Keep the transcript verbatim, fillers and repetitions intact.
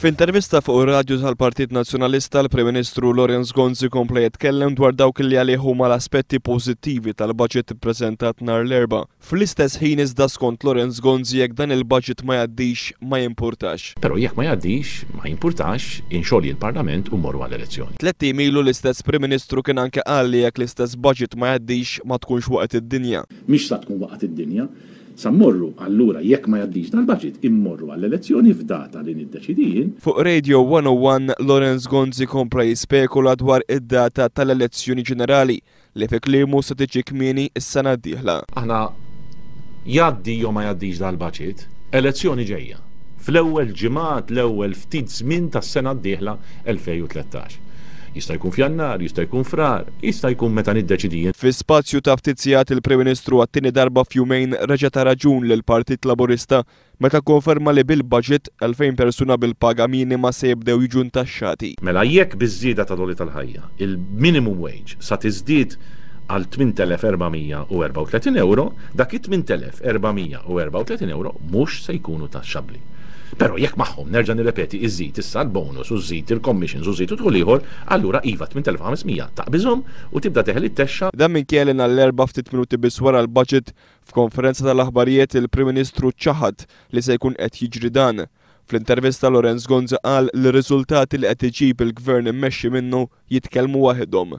F'intervista fuq ir-radju tal-Partit Nazzjonalista, l-Prim Ministru Lawrence Gonzi kompla jitkellem dwar dawk li għalih huma l-aspetti pożittivi tal-budget ippreżentat nhar l-Erbgħa. Fl-istess ħin iżda, skont Lawrence Gonzi, jekk dan il-budget ma jgħaddix, ma jimpurtax. Però jekk ma jgħaddix, ma jimpurtax, inxolji l-Parlament u mmorru għall-elezzjoni. Tlett ijiem ilu l-istess Prim Ministru kien anke qal li jekk l-istess budget ma jgħaddix, ma tkunx waqgħet id-dinja. Mhix sa tkun waqgħet id-dinja. Sa mmorru allura, jekk ma jgħaddix dal-budget, immorru għall-elezzjoni f'data li niddeċidi jien. Fuq Radio one oh one, Lawrence Gonzi kompla jispekula dwar id-data tal-elezzjoni ġenerali li fi kliemu se tiġi kmieni is-sena d-dieħla. Aħna, jgħaddi jew ma jgħaddix dal-budget, elezzjoni ġejja. Fl-ewwel ġimgħat, l-ewwel ftit żmien tas-sena d-dieħla elfejn u tlettax. Jista' jkun f'Jannar, jista' jkun Frar, jista' jkun meta niddeċidi jien. Fi spazju ta' ftit sigħat, il-Prim Ministru għat-tieni darba f'jumejn reġa' ta raġun lill-Partit Laburista meta konferma li bil-budget elfejn persuna bil-paga minima se jibdew jiġu ntaxxati. Mela jekk biż-żieda tal-għoli tal-ħajja, il-minimum wage sa tiżdied għal tmien elef erba' mija u erbgħa u tletin euro, dak it-tmien elef erba' mija u erbgħa u tletin euro mhux se jkunu taxxabbli. Però jekk magħhom, nerġa' nirrepeti, iżid issa l-bonus u żżid il-commissions u żżid u dħul ieħor, allura iva, tmien elef u ħames mija taqbiżhom u tibda teħel it-taxxa. Dan minkejja li nhar l-Erbgħa, ftit minuti biss wara l-budget, f'konferenza tal-aħbarijiet il-Prim Ministru ċaħad li se jkun qed jiġri dan. Fl-intervista, Lawrence Gonzi qal li r-riżultati li qed iġib il-gvern immexxi minnu jitkellmu waħedhom.